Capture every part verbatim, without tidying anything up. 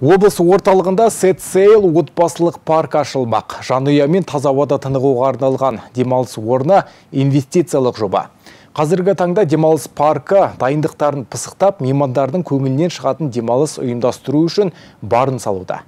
Облыс орталығында Сет-Сейл отбасылық парк ашылмақ. Жанұя мен таза ауада тынығуға арналған демалыс орны инвестициялық жоба. Қазіргі таңда демалыс паркі дайындықтарын пысықтап, меймандардың көңілінен шығатын демалыс ұйымдастыру үшін барын салуда.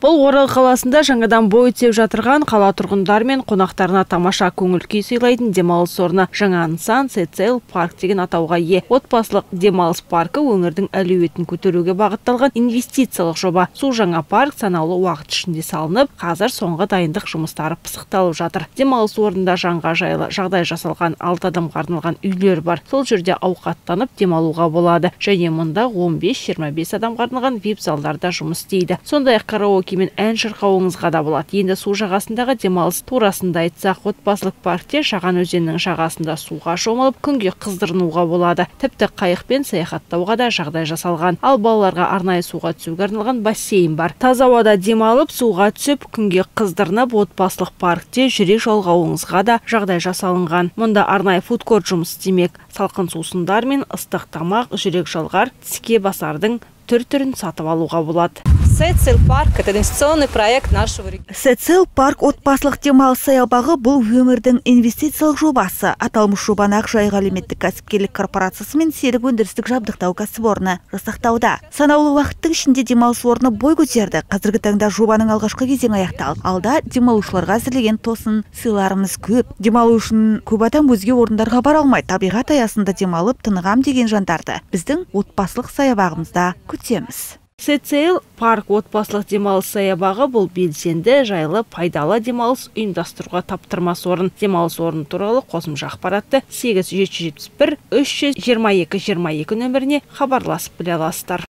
Бұл Орал қаласында жаңадан бой түзеп жатырған қала тұрғындар мен қонақтарына тамаша көңіл күй сыйлайтын демалыс орны. Жаңа нысан Сет-Сейл парк деген атауға ие. Отбасылық демалыс паркі өңірдің әлеуетін көтеруге бағытталған инвестициялық жоба. Су жаңа парк санаулы уақыт ішінде салынып, қазір соңғы дайындық жұмыстары пысықталып жатыр. Демалыс орнында жанға жайлы жағдай жасалған алты адамға арналған үйлер бар. Сол жерде ауқаттанып демалуға болады. Және мұнда он бес жиырма бес адамға арналған вип залдарда жұмыс істейді. Сондай-ақ караоке мен ән шырқауыңызға да болады. Енді су жағасындағы демалыс турасында айтсақ, отбасылық паркте Шаған өзенінің жағасында суға шомылып, күнге қыздырынуға болады. Тіпті қайықпен саяхаттауға да жағдай жасалған. Ал балаларға арнайы суға түсуге арналған бассейн бар. Таза ауада демалып, суға түсіп, күнге қыздырынып, отбасылық паркте жүрек жалғауыңызға да жағдай жасалынған. Мұнда арнайы фудкорт жұмыс істемек. Салқын сусындар мен ыстық тамақ, жүрек жалғар, тіске басардың түр-түрін сатып алуға болады. Сет-Сейл парк – это инвестиционный проект нашего региона. Сет-Сейл парк отбасылық демалыс саябағы бұл өңірдің инвестициялық жобасы. Аталмыш жобаны Ақжайық әлеуметтік кәсіпкерлік корпорациясы мен серік өндірістік жабдықтау кәсіпорны жасақтауда. Санаулы уақыттың ішінде демалыс орны бой көтерді. Қазіргі таңда жобаның алғашқы кезеңі аяқталды. Алда демалушыларға әзірлеген тосын сыйларымыз көп. Демалу үшін көп адам өзге орындарға бара алмай, табиғат аясында демалып тынығам деген жандарды біздің отбасылық саябағымызда күтеміз. Сет-Сейл парк отбасылық демалыс саябағы бұл белсенді, жайлы, пайдалы демалыс ұйымдастыруға таптырмас орын. Демалыс орны туралы қосымша ақпаратты сегіз жеті жетпіс бір үш жүз жиырма екі жиырма екі нөміріне хабарласып біле аласыздар.